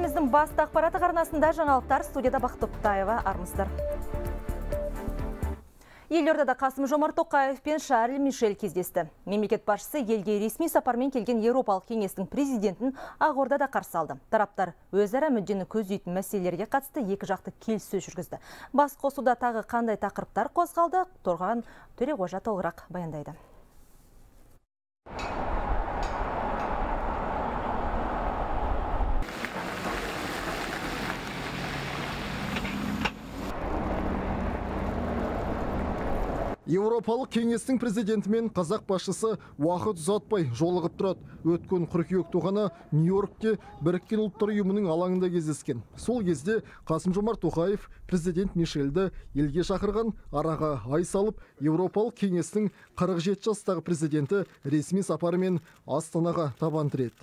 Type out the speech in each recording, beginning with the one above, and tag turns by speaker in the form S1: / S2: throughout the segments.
S1: Еліміздің басты ақпараттық арнасында жаңалықтар, студияда Бақыт Тоқтаева, армысыздар. Елордада Қасым-Жомарт Тоқаев пен Шарль Мишель кездесті. Мемлекет басшысы елге ресми сапармен келген Еуропалық кеңестің президентін Ақордада қарсы алды. Тараптар өзара мүддені көздейтін мәселелерге қатысты екі жақты келіссөз жүргізді. Бас қосуда тағы қандай тақырыптар қозғалды? Торған Төреғожа толығырақ баяндайды.
S2: Еуропалық кеңестің президентімен қазақ басшысы уақыт ұзатпай жолығып тұрады. Өткен қыркүйек туғаны Нью-Йоркте Біріккен ұлттар ұйымының алаңында кездескен. Сол кезде Қасым-Жомарт Тоқаев президент Мишельді елге шақырған, араға ай салып, Еуропалық кеңестің 47 жастағы президенті ресми сапарымен Астанаға табан тіреді.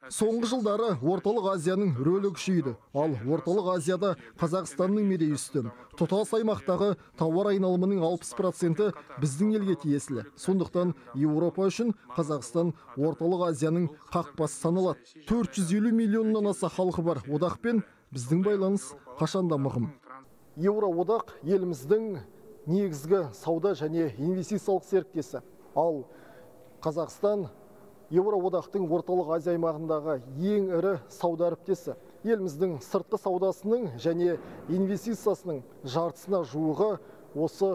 S2: Соңғы жылдары Орталық Азияның рөлі күшейді. Ал Орталық Азияда Қазақстанның мерейі үстем. Тұтас аймақтағы тауар айналымының 60% біздің елге тиесілі. Сондықтан Еуропа үшін Қазақстан Орталық Азияның қақпасы саналады. 450 миллионнан аса халқы бар одақпен біздің байланыс қашанда мығым. Еуроодақ еліміздің негізгі сауда және инвестициялық серіктесі. Ал Қазақстан Еуроодақтың Орталық Азия аймағындағы ең ірі сауда әріптесі. Еліміздің сыртқы саудасының және инвестициясының жартысына жуығы осы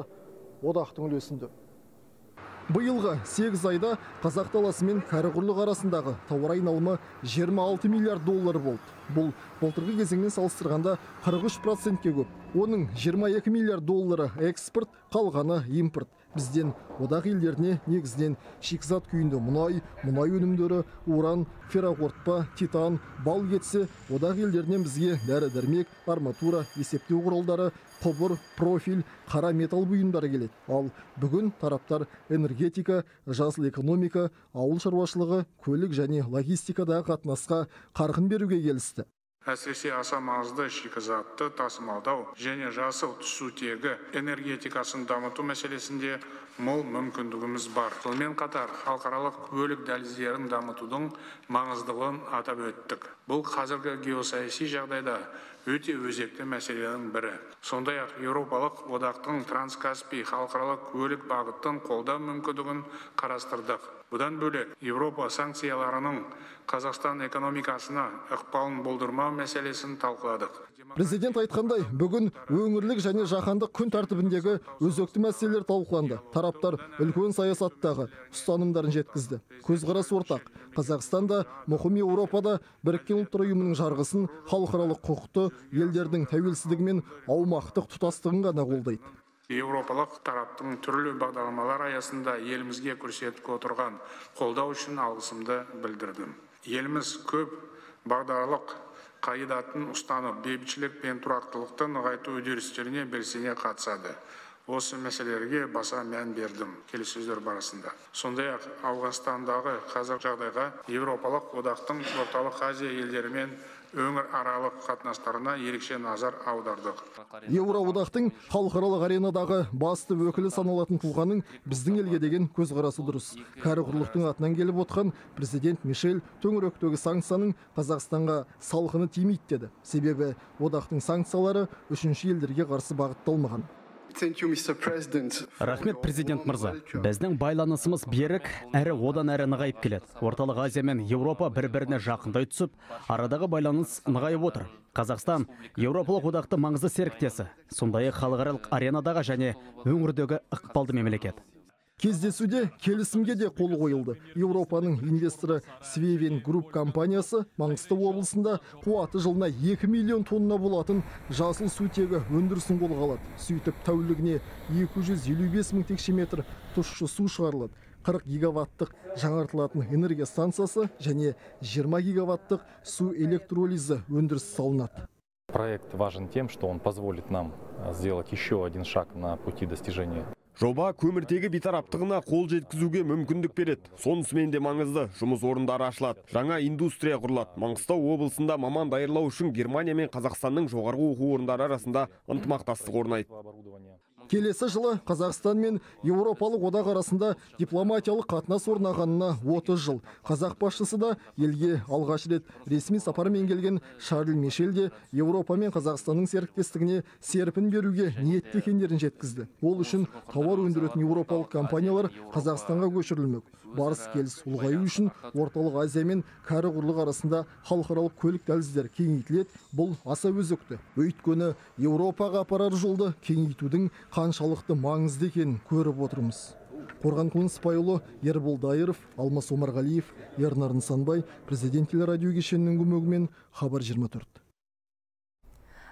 S2: одақтың үлесінде. Биылғы 8 айда Қазақ даласы мен Кәрі-құрлық арасындағы тауар айналымы 26 миллиард доллар болды. Бұл былтырғы кезеңмен салыстырғанда 43%-ке көп. Оның 22 миллиард доллары экспорт, қалғаны импорт. Бізден одақ елдеріне негізінен шикізат күйінде мұнай өнімдері, уран, ферроқорытпа, титан, бал кетсе, одақ елдерінен бізге дәрі-дәрмек, арматура, есептеу құралдары, құбыр, профиль, қара металл бұйымдары келеді. Ал бүгін тараптар энергетика, жасыл экономика, ауыл шаруашылығы, көлік және логистикадағы қатынасқа қарқын беруге келісті.
S3: Әсіресе аса маңызды шикізатты тасымалдау және жасыл түсутегі энергетикасын дамыту мәселесінде мол мүмкіндігіміз бар. Сонымен қатар халықаралық көлік дәліздерін дамытудың маңыздылығын атап өттік. Бұл қазіргі геосаяси жағдайда өте өзекті мәселенің бірі. Сондай-ақ Еуропалық одақтың Транскаспий халықаралық көлік бағытын қолдау мүмкіндігін қарастырдық. Бұдан бөлек Еуропа санкцияларының Қазақстан экономикасына ықпалын болдырмау мәселесін талқыладық.
S2: Президент айтқандай, бүгін өңірлік және жаһандық күн тәртібіндегі өзекті мәселелер талқыланды. Тараптар үлкен саясаттағы ұстанымдарын жеткізді. Көзқарас ортақ. Қазақстанда, мұқым Еуропада Біріккен ұлттар ұйымының жарғысын, халықаралық құқықты, елдердің тәуелсіздігі мен аумақтық тұтастығын ғана қолдайды.
S3: Еуропалық тараптың түрлі бағдарламалар аясында елімізге көрсетіп отырған қолдау үшін алғысымды білдірдім. Еліміз көп бағдарлық қағидатын ұстанып, бейбітшілік пен тұрақтылықты нығайту үдерістеріне белсене қатысады. Осы мәселелерге баса мән бердім келіссөздер барысында. Сондай-ақ Ауғанстандағы қазір жағдайға Еуропалық одақтың Орталық Азия елдерімен өңір аралық қатынастарына ерекше назар аудардық.
S2: Еуроодақтың халықаралық аренадағы басты өкілі саналатын тұлғаның біздің елге деген көзқарасы дұрыс. Кәрі-құрлықтың атынан келіп отқан президент Мишель төңіректегі санкцияның Қазақстанға салқыны тимейді деді. Себебі одақтың санкциялары үшінші елдерге қарсы бағытталмаған.
S4: Рахмет, президент мырза. Біздің байланысымыз берік, әрі одан әрі нығайып келеді. Орталық Азия мен Еуропа бір-біріне жақындай түсіп, арадағы байланыс нығайып отыр. Қазақстан Еуропалық одақты маңызды серіктесі, сондай-ақ халықаралық аренадағы және өңірдегі ықпалды мемлекет.
S2: Кездесуде келісімге де қол қойылды. Еуропаның инвесторы Свевен Групп компаниясы Маңғыстау облысында қуаты жылына 2 миллион тонна болатын жасыл сутегі өндірісін қолға алады. Сөйтіп тәулігіне 255 мың текше метр тұщы су шығарылады. 40 гигаваттық жаңартылатын энергия станциясы және 20 гигаваттық су электролизі өндіріс салынады.
S5: Проект важен тем, что он позволит нам сделать еще один шаг на пути достижения.
S6: Жоба көміртегі бейтараптығына қол жеткізуге мүмкіндік береді. Сонысымен де маңызды жұмыс орындары ашылады. Жаңа индустрия құрылады. Маңғыстау облысында маман даярлау үшін Германия мен Қазақстанның жоғарғы оқу орындары арасында ынтымақтастық орнайды.
S2: Келесі жылы Қазақстан мен Еуропалық одақ арасында дипломатиялық қатынас орнағанына 30 жыл. Қазақ басшысы да елге алғаш рет ресми сапармен келген Шарль Мишель де Еуропа мен Қазақстанның серіктестігіне серпін беруге ниетті екендерін жеткізді. Ол үшін тауар өндіретін еуропалық компаниялар Қазақстанға көшірілмек. Барыс келіс ұлғаю үшін Орталық Азия мен кәрі құрлық арасында халықаралық көлік дәліздер кеңейтіледі. Бұл аса өзекті. Өйткені Еуропаға апарар жолды кеңейтудің қаншалықты маңызды екенін көріп отырмыз. Қорған Күнсіпайұлы, Ербол Дайыров, Алмас Омарғалиев, Ернар Нысанбай, Президент телерадио кешенінің көмегімен Хабар 24.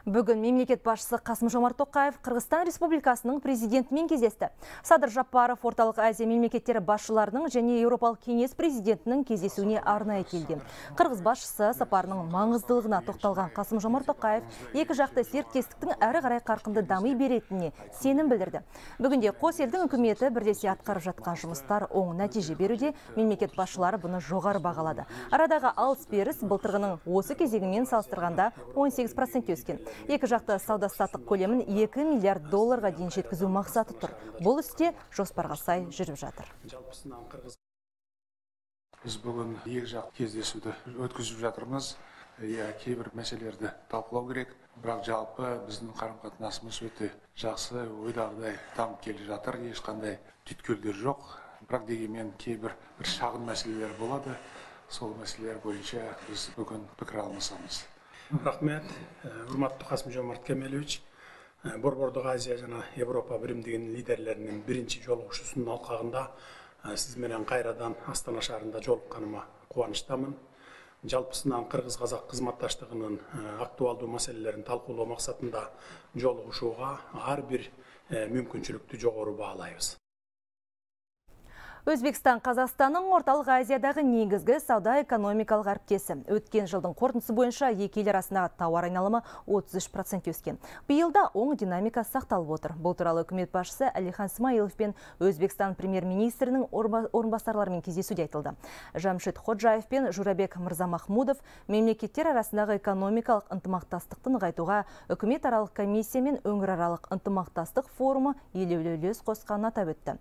S1: Бүгін мемлекет басшысы Қасым-Жомарт Тоқаев Қырғызстан Республикасының президентімен кездесті. Садыр Жапаров Орталық Азия мемлекеттері басшыларының және Еуропалық кеңес президентінің кездесуіне арнайы келген. Қырғыз басшысы сапарының маңыздылығына тоқталған Қасым-Жомарт Тоқаев екі жақты серіктестіктің әрі қарай қарқынды дами беретініне сенім білдірді. Бүгінде қос елдің үкіметі бірлесе атқарып жатқан жұмыстар оң нәтиже беруде, мемлекет басшылары бұны жоғары бағалады. Арадағы алыс-беріс былтырғының осы кезегімен салыстырғанда 18% өскен. Екі жақты сауда-саттық көлемін 2 миллиард долларға дейін жеткізу мақсаты тұр. Бұл істе жоспарға сай жүріп жатыр.
S3: Біз бүгін екі жақ кездесуді өткізіп жатырмыз. Кейбір мәселелерді талқылау керек. Бірақ жалпы біздің қарым-қатынасымыз өте жақсы, ойдағыдай дамып келе жатыр. Ешқандай түйткілдер жоқ. Бірақ дегенмен кейбір шағын мәселелер болады. Сол мәселелер бойынша біз бүгін пікір алмасамыз.
S7: Рахмет, урматтуу Касым-Жомарт Кемелевич. Борбордук Азия жана Европа биримдигинин лидерлеринин биринчи жолугушуусунун алкагында сиз менен кайрадан Астана шаарында жолукканыма кубанычтамын. Жалпысынан Кыргыз-Казак кызматташтыгынын актуалдуу маселелерин талкуулоо максатында жолугушууга ар бир мүмкүнчүлүктү жогору баалайбыз.
S1: Өзбекстан Қазақстанның Орталық Азиядағы негізгі сауда-экономикалық әріптесі. Өткен жылдың қорытындысы бойынша екі ел арасындағы тауар айналымы 33% өскен. Биылда оң динамика сақталып отыр. Бұл туралы үкімет басшысы Әлихан Смайылов пен Өзбекстан премьер-министрінің орынбасарларымен кездесуде айтылды. Жамшид Ходжаев пен Журабек Мырзамахмудов мемлекеттер арасындағы экономикалық ынтымақтастықты нығайтуға үкіметаралық комиссия мен өңіраралық ынтымақтастық форумы елеулі үлес қосқанын атап өтті.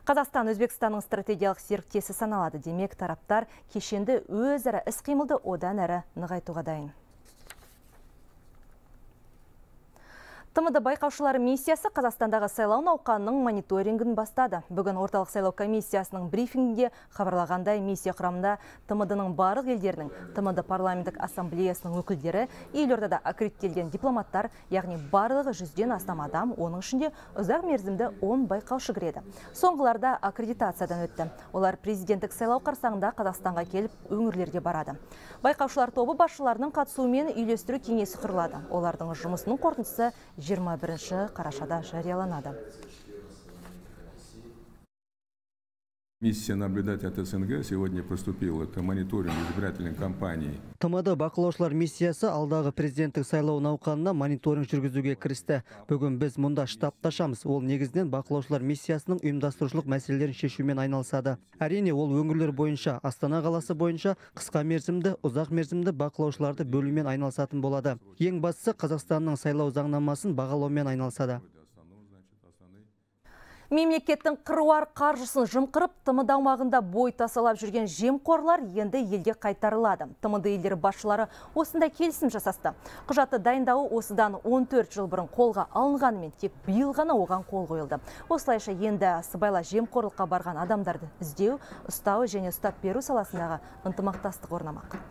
S1: Қазақстан Өзбекстанның стратегиялық серіктесі саналады. Демек, тараптар кешенді өзара іс-қимылды одан әрі нығайтуға дайын. ТМД байқаушылары миссиясы Қазақстандағы сайлау науқанының мониторингін бастады. Бүгін орталық сайлау комиссиясының брифингінде хабарлағандай миссия құрамында ТМД-ның барлық елдерінің, ТМД парламенттік ассамблеясының өкілдері, елордада аккредиттелген дипломаттар, яғни барлығы 100-ден астам адам, оның ішінде ұзақ мерзімді 10 байқаушы кіреді. Соңғыларда аккредитациядан өтті. Олар президенттік сайлау қарсаңында Қазақстанға келіп өңірлерге барады. Байқаушылар тобы басшыларының қатысуымен үйлестіру кеңесі құрылады. Олардың жұмысының қорытындысы 21 қарашада жарияланады.
S8: Миссия наблюдателей от СНГ сегодня приступила к мониторингу избирательной кампании.
S9: ТМД бақылаушылар миссиясы алдағы президенттік сайлау науқанына мониторинг жүргізуге кірісті. Бүгін біз мұнда штабташамыз. Ол негізінен бақылаушылар миссиясының ұйымдастырушылық мәселелерін шешумен айналысады. Әрине, ол өңірлер бойынша, Астана қаласы бойынша қысқа мерзімді, ұзақ мерзімді бақылаушыларды бөлумен айналысатын болады. Ең бастысы Қазақстанның сайлау заңнамасын бағалаумен айналысады.
S1: Мемлекеттің қыруар қаржысын жымқырып, ТМД аумағында бой тасалап жүрген жемқорлар енді елге қайтарылады. ТМД елдері басшылары осында келісім жасасты. Құжатты дайындауы осыдан 14 жыл бұрын қолға алынғанымен тек биыл ғана оған қол қойылды. Осылайша енді сыбайлас жемқорлыққа барған адамдарды іздеу, ұстау және ұстап беру саласындағы ынтымақтастық орнамақ.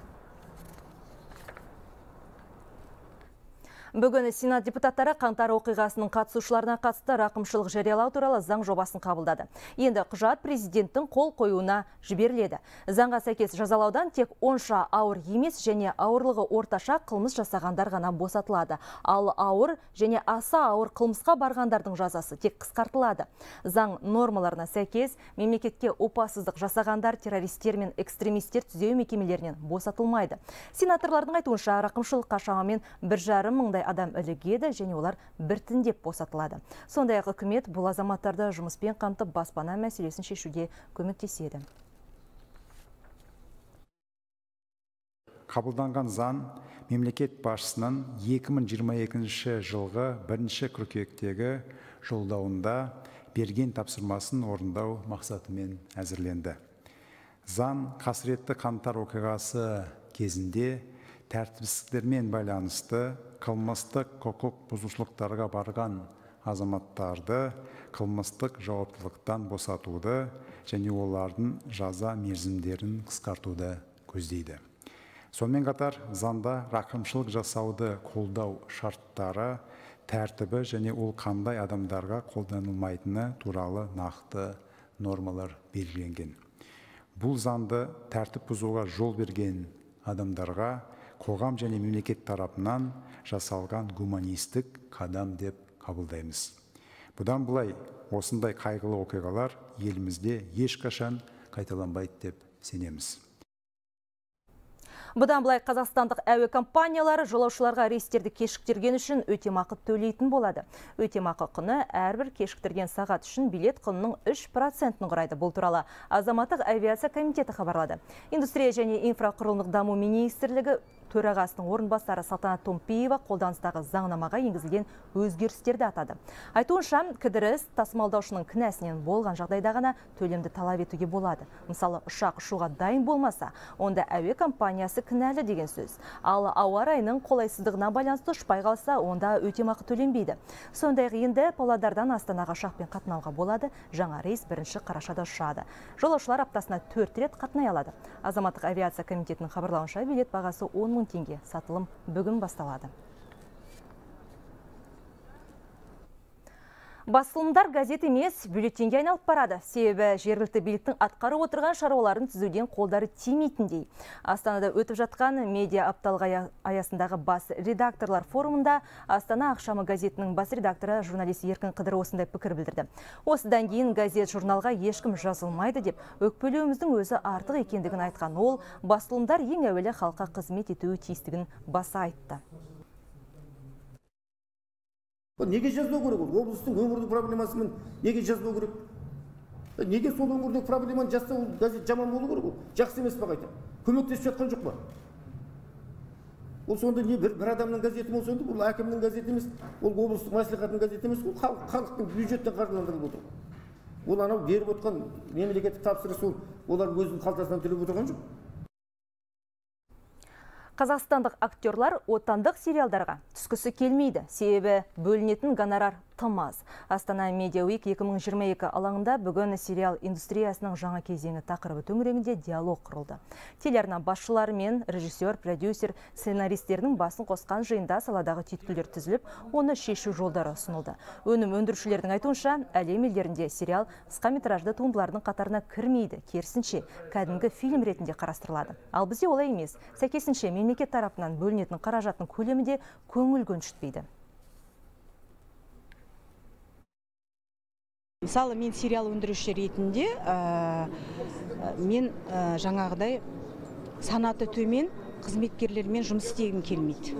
S1: Бүгін Сенат депутаттары қаңтар оқиғасының қатысушыларына қатысты рақымшылық жариялау туралы заң жобасын қабылдады. Енді құжат президенттің қол қоюына жіберіледі. Заңға сәйкес жазалаудан тек онша ауыр емес және ауырлығы орташа қылмыс жасағандар ғана босатылады. Ал ауыр және аса ауыр қылмысқа барғандардың жазасы тек қысқартылады. Заң нормаларына сәйкес мемлекетке опасыздық жасағандар, террористер мен экстремистер түзеу мекемелерінен босатылмайды. Сенаторлардың айтуынша рақымшылыққа шамамен 1,5 мыңдай адам ілігеді және олар біртіндеп босатылады. Сондай-ақ үкімет бұл азаматтарды жұмыспен қамтып баспана мәселесін шешуге көмектеседі.
S10: Қабылданған заң мемлекет басшысының 2022 жылғы 1 қыркүйектегі жолдауында берген тапсырмасын орындау мақсатымен әзірленді. Заң қасіретті қаңтар оқиғасы кезінде тәртіпсіздіктермен байланысты қылмыстық құқық бұзушылықтарға барған азаматтарды қылмыстық жауаптылықтан босатуды және олардың жаза мерзімдерін қысқартуды көздейді. Сонымен қатар, заңда рақымшылық жасауды қолдау шарттары, тәртібі және ол қандай адамдарға қолданылмайтыны туралы нақты нормалар белгіленген. Бұл заңды тәртіп бұзуға жол берген адамдарға қоғам және мемлекет тарапынан жасалған гуманистік қадам деп қабылдаймыз. Бұдан былай, осындай қайғылы оқиғалар елімізде ешқашан қайталанбайды деп сенеміз.
S1: Бұдан былай қазақстандық әуе компаниялары жолаушыларға рейстерді кешіктірген үшін өтемақы төлейтін болады. Өтемақы құны әрбір кешіктірген сағат үшін билет құнының 3%-ын құрайды. Бұл туралы Азаматтық авиация комитеті хабарлады. Индустрия және инфрақұрылымдық даму министрлігі төрағасының орынбасары Салтанат Томпиева қолданыстағы заңнамаға енгізілген өзгерістерді атады. Айтуынша, кідіріс тасымалдаушының кінәсінен болған жағдайда ғана төлемді талап етуге болады. Мысалы, ұшақ ұшуға дайын болмаса, онда әуе компаниясы кінәлі деген сөз. Ал ауа райының қолайсыздығына байланысты ұшпай қалса, онда өтемақы төленбейді. Сондай-ақ енді Павлодардан Астанаға ұшақпен қатынауға болады. Жаңа рейс 1 қарашада ұшады. Жолаушылар аптасына 4 рет қатынай алады. Азаматтық авиация комитетінің хабарлауынша билет бағасы 10 000 теңге. Сатылым бүгін басталады. Басылымдар газет емес, бюллетенге айналып барады. Себебі жергілікті биліктің атқарып отырған шаруаларын түзуден қолдары тимейтіндей. Астанада өтіп жатқан медиа апталығы аясындағы бас редакторлар форумында Астана ақшамы газетінің бас редакторы журналист Еркін Қыдыр осындай пікір білдірді. Осыдан кейін газет журналға ешкім жазылмайды деп, өкпелеуіміздің өзі артық екендігін айтқан ол, басылымдар ең әуелі халыққа қызмет етуі тиістігін баса айтты.
S11: Неге жазбау керек? Облыстың өңірдің проблемасымен неге жазбау керек? Неге сол өңірдегі проблеманы жазса, ол газет жаман болу керек? Жақсы емес па қайта? Көмектесіп жатқан жоқ па? Ол сонда не бір адамның газеті болса, бұл әкімнің газеті емес, ол облыстық мәслихаттың газеті емес, ол халықтың бюджеттен қаржыландырылып отыр. Ол анау беріп отқан мемлекеттік тапсырыс, олар өзінің қалтасынан төлеп отырған жоқ.
S1: Қазақстандық актерлар отандық сериалдарға түскісі келмейді. Себебі бөлінетін гонорар тым аз. Астана Media Week 2022 алаңында бүгін сериал индустриясының жаңа кезеңі тақырыбы төңірегінде диалог құрылды. Телеарна басшылары мен режиссер, продюсер, сценаристердің басын қосқан жиында саладағы түйткілдер түзіліп, оны шешу жолдары ұсынылды. Өнім өндірушілердің айтуынша, әлем елдерінде сериал қысқаметражды туындылардың қатарына кірмейді, керісінше кәдімгі фильм ретінде қарастырылады. Ал бізде олай емес. Сәйкесінше мемлекет тарапынан бөлінетін қаражаттың көлемі де көңіл көншітпейді.
S12: Мысалы, мен сериал өндіруші ретінде мен жаңағыдай санаты төмен қызметкерлермен жұмыс істегім келмейді.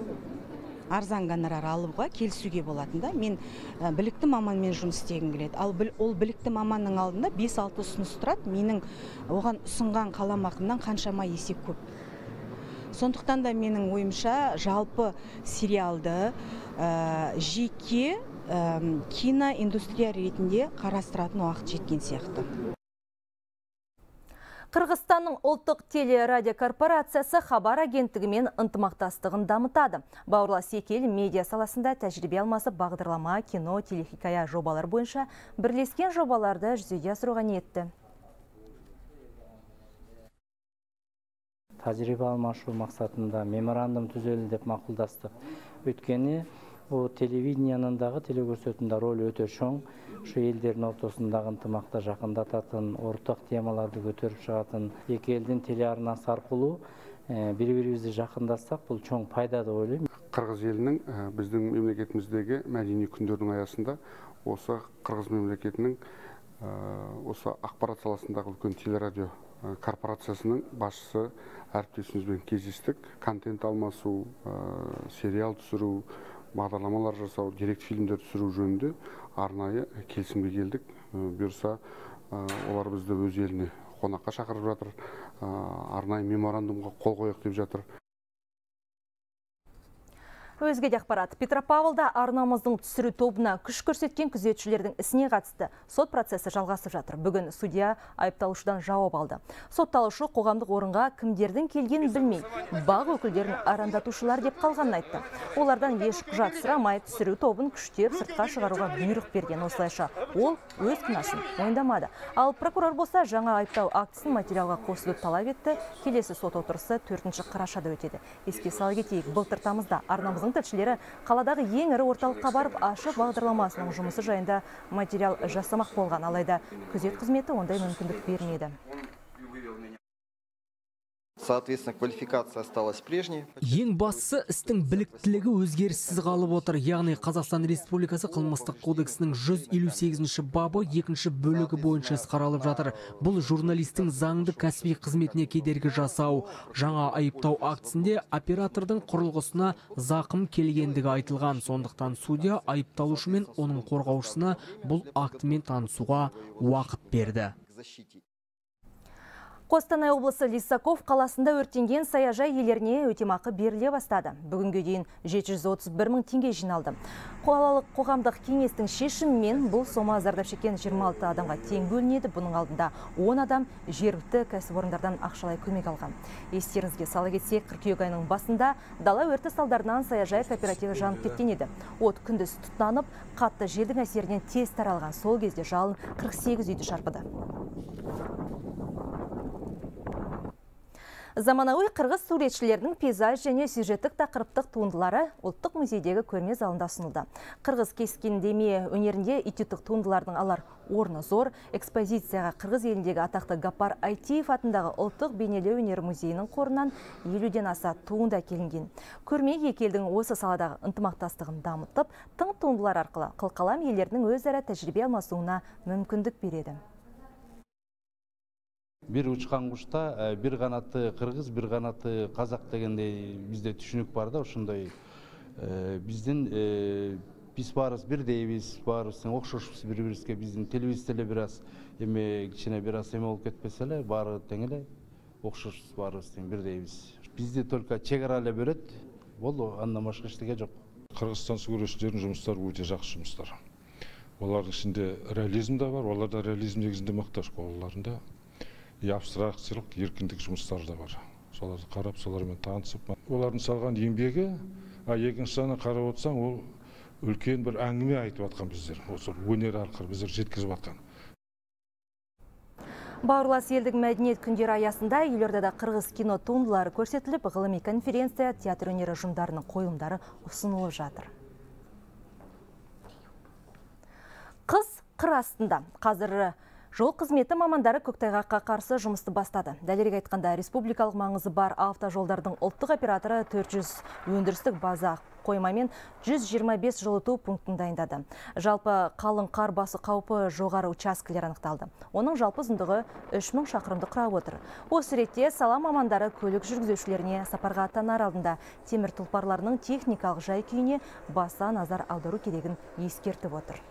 S12: Арзан гонорар алуға келісуге болатында, мен білікті маманмен жұмыс істегім келеді. Ал ол білікті маманның алдында 5-6 ұсыныс тұрады, менің оған ұсынған қаламақымнан қаншама есе көп. Сондықтан да менің ойымша жалпы сериалды жеке киноиндустрия ретінде қарастыратын уақыт жеткен сияқты.
S1: Қырғызстанның ұлттық телерадиокорпорациясы хабар агенттігімен ынтымақтастығын дамытады. Бауырлас екі ел медиа саласында тәжірибе алмасып бағдарлама, кино, телехикая жобалар бойынша бірлескен жобаларды жүзеге асыруға ниетті.
S13: Тәжірибе алмашу мақсатында меморандум түзелді деп мақұлдастық. Өйткені бұл телевидениянындағы телекөрсетуінде рөл өте чоң. Шу елдердің ортасындағы ынтымақты жақындататын, ортақ темаларды көтеріп шығатын екі елдің телеарнасы арқылы бір-бірімізді жақындассақ, бұл чоң пайда деп ойлаймын.
S14: Қырғыз елінің біздің мемлекетіміздегі мәдени күндердің аясында осы Қырғыз мемлекетінің осы ақпарат саласындағы үлкен телерадио корпорациясының басшысы әріптесімізбен кездестік. Контент алмасу, сериал түсіру, бағдарламалар жасау, деректі фильмдер түсіру жөнінде арнайы келісімге келдік. Бұйырса, олар бізді өз еліне қонаққа шақырып жатыр, арнайы меморандумға қол қояйық деп жатыр.
S1: Өзге де ақпарат. Петропавлда арнамыздың түсіру тобына күш көрсеткен күзетшілердің ісіне қатысты сот процесі жалғасып жатыр. Бүгін судья айыпталушыдан жауап алды. Сотталушы қоғамдық орынға кімдердің келгенін білмей, бақ өкілдерін арандатушылар деп қалғанын айтты. Олардан еш құжат сұрамай түсіру тобын күштеп сыртқа шығаруға бұйрық берген. Осылайша ол өз кінәсін мойындамады. Ал прокурор болса жаңа айыптау актісін материалға қосуды талап етті. Келесі сот отырысы 4 қарашада өтеді. Еске сала кетейік, былтыр тамызда арнамыздың тілшілері қаладағы ең ірі орталыққа барып ашық бағдарламасының жұмысы жайында материал жасамақ болған, алайда күзет қызметі ондай мүмкіндік бермеді.
S15: Соответственно, квалификация осталась прежней.
S16: Ең бастысы істің біліктілігі өзгеріссіз қалып отыр. Яғни Қазақстан Республикасы қылмыстық кодексінің 158-ші бабы 2-ші бөлігі бойынша іс қаралып жатыр. Бұл журналистің заңды кәсіби қызметіне кедергі жасау. Жаңа айыптау актісінде оператордың құрылғысына зақым келгендігі айтылған. Сондықтан судья айыпталушы мен оның қорғаушысына бұл актімен танысуға уақыт берді.
S1: Қостанай облысы Лисаков қаласында өртенген саяжай иелеріне өтемақы беріле бастады. Бүгінге дейін 731 мың теңге жиналды. Қалалық қоғамдық кеңестің шешімімен бұл сома зардап шеккен 26 адамға тең бөлінеді. Бұның алдында 10 адам жергілікті кәсіпорындардан ақшалай көмек алған. Естеріңізге сала кетсек, қыркүйек айының басында дала өрті салдарынан саяжай кооперативі жанып кеткен еді. От күндіз тұтанып, қатты желдің әсерінен тез таралған. Сол кезде жалын 48 үйді шарпыды. Заманауи қырғыз суретшілерінің пейзаж және сюжеттік тақырыптық туындылары ұлттық музейдегі көрме залында ұсынылды. Қырғыз кескіндеме өнерінде этюдтік туындылардың алар орны зор. Экспозицияға қырғыз еліндегі атақты Гапар Айтиев атындағы ұлттық бейнелеу өнер музейінің қорынан 50-ден аса туынды әкелінген. Көрме екі елдің осы саладағы ынтымақтастығын дамытып, тың туындылар арқылы қылқалам елдерінің өзара тәжірибе алмасуына мүмкіндік береді.
S17: Bir uçkan kuşta bir kanatı Kırgız, bir kanatı Kazak degende bizde düşünük var da ошондой биздин биз баарыбыз бирдейбиз, баарыбыздын окшошубуз бири-бирибизге, биздин телибиз деле бир аз эме кичине бир аз эме болуп кетпесе эле, баары тең эле окшошубуз, баарыбыз тең бирдейбиз. Бизди только чек ара эле бөлөт, болду, андан башка эчтеке жок.
S18: Кыргызстан суретчилердин жумуштары өтө жакшы жумуштар. Олардын ичинде реализм да бар, олар да реализм негизинде макташ колларында. Абстракциялык, эркиндик жумуштары да бар. Соларды карап, солармен таанышып, олардын салган эмгеги, экинчи жагынан карап отсаң, ол үлкен бир аңгиме айтып аткан биздер. Ошо өнер аркылуу биздер жеткизип аткан.
S1: Бауырлас елдің мәдениет күндері аясында елордада қырғыз кино туындылары көрсетіліп, ғылыми конференция, театр өнері ұжымдарының қойылымдары ұсынылып жатыр. Қыс қыр астында. Қазір жол қызметі мамандары көктайғаққа қарсы жұмысты бастады. Дәлірек айтқанда, республикалық маңызы бар автожолдардың ұлттық операторы 400 өндірістік база қоймамен 125 жылыту пунктін дайындады. Жалпы қалың қар басы қаупі жоғары учаскелер анықталды. Оның жалпы ұзындығы 3000 шақырымды құрап отыр. Осы ретте сала мамандары көлік жүргізушілеріне сапарға аттанар алдында темір тұлпарларының техникалық жай-күйіне баса назар аудару керегін ескертіп отыр.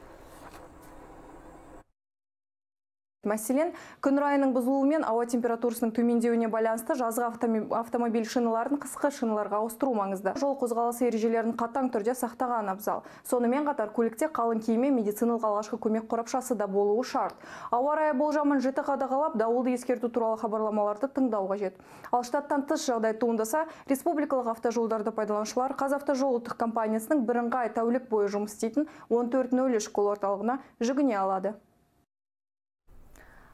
S19: Мәселен, күн райының бұзылуымен ауа температурасының төмендеуіне байланысты жазғы автомобиль шиналарын қысқы шиналарға ауыстыру маңызды. Жол қозғалысы ережелерін қатаң түрде сақтаған абзал. Сонымен қатар көлікте қалың киім мен медициналық алғашқы көмек қорапшасы да болуы шарт. Ауа райы болжамын жіті қадағалап, дауылды ескерту туралы хабарламаларды тыңдау қажет. Ал штаттан тыс жағдай туындаса, республикалық автожолдарды пайдаланушылар Қазавтожол ұлттық компаниясының бірыңғай тәулік бойы жұмыс істейтін 1403 кол орталығына жүгіне алады.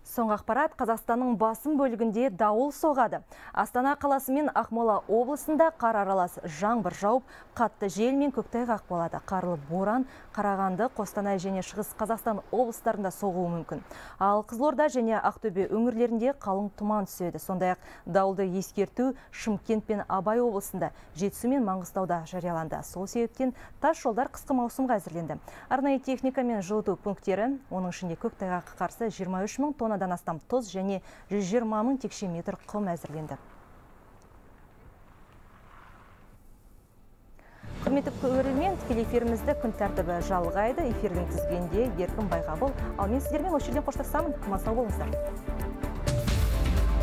S1: Соңғы ақпарат, Қазақстанның басым бөлігінде дауыл соғады. Астана қаласы мен Ақмола облысында қар аралас жаңбыр жауып, қатты жел мен көктайғақ болады. Қарлы боран Қарағанды, Қостанай және Шығыс Қазақстан облыстарында соғуы мүмкін. Ал Қызылорда және Ақтөбе өңірлерінде қалың тұман түседі. Сондай-ақ дауылды ескерту Шымкент пен Абай облысында, Жетісу мен Маңғыстауда жарияланды. Сол себептен тас жолдар қысқы маусымға әзірленді. Арнайы техника мен жылыту пункттері, оның ішінде көктайғаққа қарсы 23 мың тоннадан астам тұз және 120 мың текше метр құм әзірленді. Құрметті көрермен, тікелей эфирімізді күн тәртібі жалғайды. Эфирдің тізгенде Еркін Байғабыл. Ал мен сіздермен осы жерден қоштасамын. Аман сау болыңыздар.